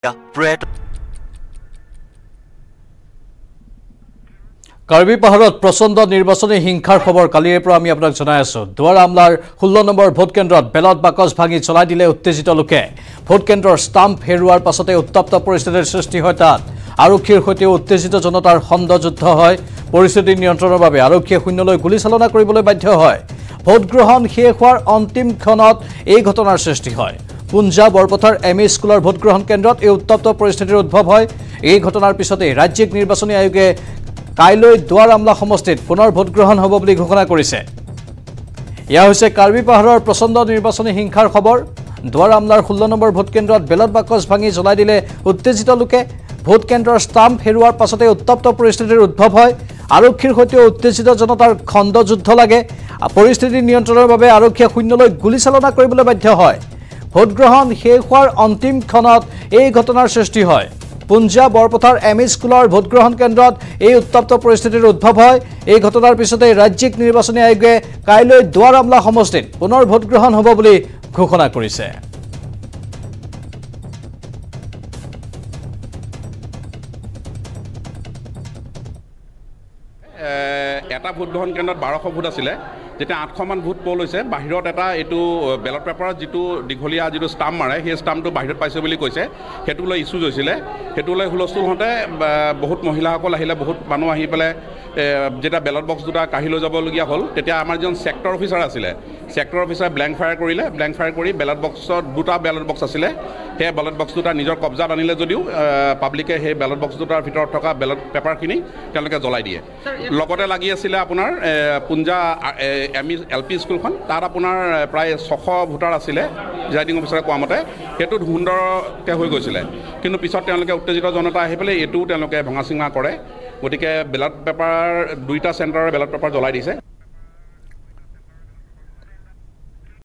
Bread. Karbi পাহাৰত প্ৰচণ্ড নিৰ্বাচনী হিংসাৰ খবৰ কালিৰে পৰা আমি আপোনাক জনাই আছো। দুৱাৰ আমলাৰ 16 নম্বৰ ভোট কেন্দ্ৰত বেলট বাকচ ভাঙি চলাই দিলে উত্তেজিত লোকে। ভোট কেন্দ্ৰৰ ষ্টাম্প হেৰুৱাৰ পাছতে উত্তপ্ত পৰিস্থিতিৰ সৃষ্টি হয় তাত। আৰক্ষীৰ সৈতে উত্তেজিত জনতাৰ খণ্ডযুদ্ধ হয়। পৰিস্থিতি নিয়ন্ত্ৰণৰ বাবে আৰক্ষীয়ে শূন্যলৈ গুলীচালনা কৰিবলৈ বাধ্য হয়। ভোটগ্ৰহণ শেষ হোৱাৰ অন্তিম ক্ষণত এই ঘটনাৰ সৃষ্টি হয়। পুঞ্জা বৰপথাৰ এম ই স্কুলৰ ভোটগ্ৰহণ কেন্দ্ৰত এই উত্তপ্ত পৰিস্থিতিৰ উদ্ভৱ হয়। এই ঘটনাৰ পিছতে ৰাজ্যিক নিৰ্বাচনী আয়োগে কাইলৈ দুৱাৰ আমলা সমষ্টিত পুনৰ ভোটগ্ৰহণ হ'ব বুলি ঘোষণা কৰিছে। এয়া হৈছে কাৰ্বি পাহাৰৰ প্ৰচণ্ড নিৰ্বাচনী হিংসাৰ খবৰ। দুৱাৰ আমলাৰ 16 নম্বৰ ভোট কেন্দ্ৰত বেলট বাকচ ভাঙি জ্বলাই দিলে উত্তেজিত লোকে। ভোট কেন্দ্ৰৰ ষ্টাম্প হেৰুৱাৰ পাছতে উত্তপ্ত পৰিস্থিতিৰ উদ্ভৱ হয়। আৰক্ষীৰ সৈতে উত্তেজিত জনতাৰ খণ্ডযুদ্ধ লাগে। পৰিস্থিতি নিয়ন্ত্ৰণৰ বাবে আৰক্ষীয়ে শূন্যলৈ গুলীচালনা কৰিবলৈ বাধ্য হয়। ভোটগ্ৰহণ শেষ হোৱাৰ অন্তিম ক্ষণত এই ঘটনাৰ সৃষ্টি হয়। পুঞ্জা বৰপথাৰ এম ই স্কুলৰ ভোটগ্ৰহণ কেন্দ্ৰত এই উত্তপ্ত পৰিস্থিতিৰ উদ্ভৱ হয়। এই ঘটনাৰ পিছতে ৰাজ্যিক নিৰ্বাচনী আয়োগে কাইলৈ দুৱাৰ আমলা সমষ্টিত পুনৰ ভোটগ্ৰহণ হ'ব বুলি ঘোষণা কৰিছে। এটা ভোটগ্ৰহণ কেন্দ্ৰত 1200 ভোট আছিলে, যেতিয়া 800মান ভোট পল হৈছে। বাহিৰত এটা এইটো বেলট পেপাৰত যিটো দীঘলীয়া যিটো ষ্টাম্প মাৰে, সেই ষ্টাম্পটো বাহিৰত পাইছে বুলি কৈছে, সেইটো লৈ ইছ্যুজ হৈছিলে। সেইটো লৈ হুলস্থুল হওঁতে বহুত মহিলাসকল আহিলে, বহুত মানুহ আহি পেলাই যেতিয়া বেলট বক্স দুটা কাঢ়ি লৈ যাবলগীয়া হ'ল, তেতিয়া আমাৰ যিজন ছেক্টৰ অফিচাৰ আছিলে, ছেক্টৰ অফিচাৰে ব্লেংক ফায়াৰ কৰিলে। ব্লেংক ফায়াৰ কৰি বেলট বক্সত দুটা বেলট বক্স আছিলে, সেই বেলট বক্স দুটা নিজৰ কব্জাত আনিলে যদিও পাব্লিকে সেই বেলট বক্স দুটাৰ ভিতৰত থকা বেলট পেপাৰখিনি তেওঁলোকে জ্বলাই দিয়ে। লগতে লাগি আছিলে আপোনাৰ পুঞ্জা এম ই এল পি স্কুলখন, তাত আপোনাৰ প্ৰায় 600 ভোটাৰ আছিলে প্ৰিজাইডিং অফিচাৰে কোৱা মতে, সেইটোত সুন্দৰকৈ হৈ গৈছিলে। কিন্তু পিছত তেওঁলোকে উত্তেজিত জনতা আহি পেলাই এইটোও তেওঁলোকে ভঙা চিঙা কৰে। গতিকে বেলট পেপাৰ দুইটা চেণ্টাৰৰ বেলট পেপাৰ জ্বলাই দিছে।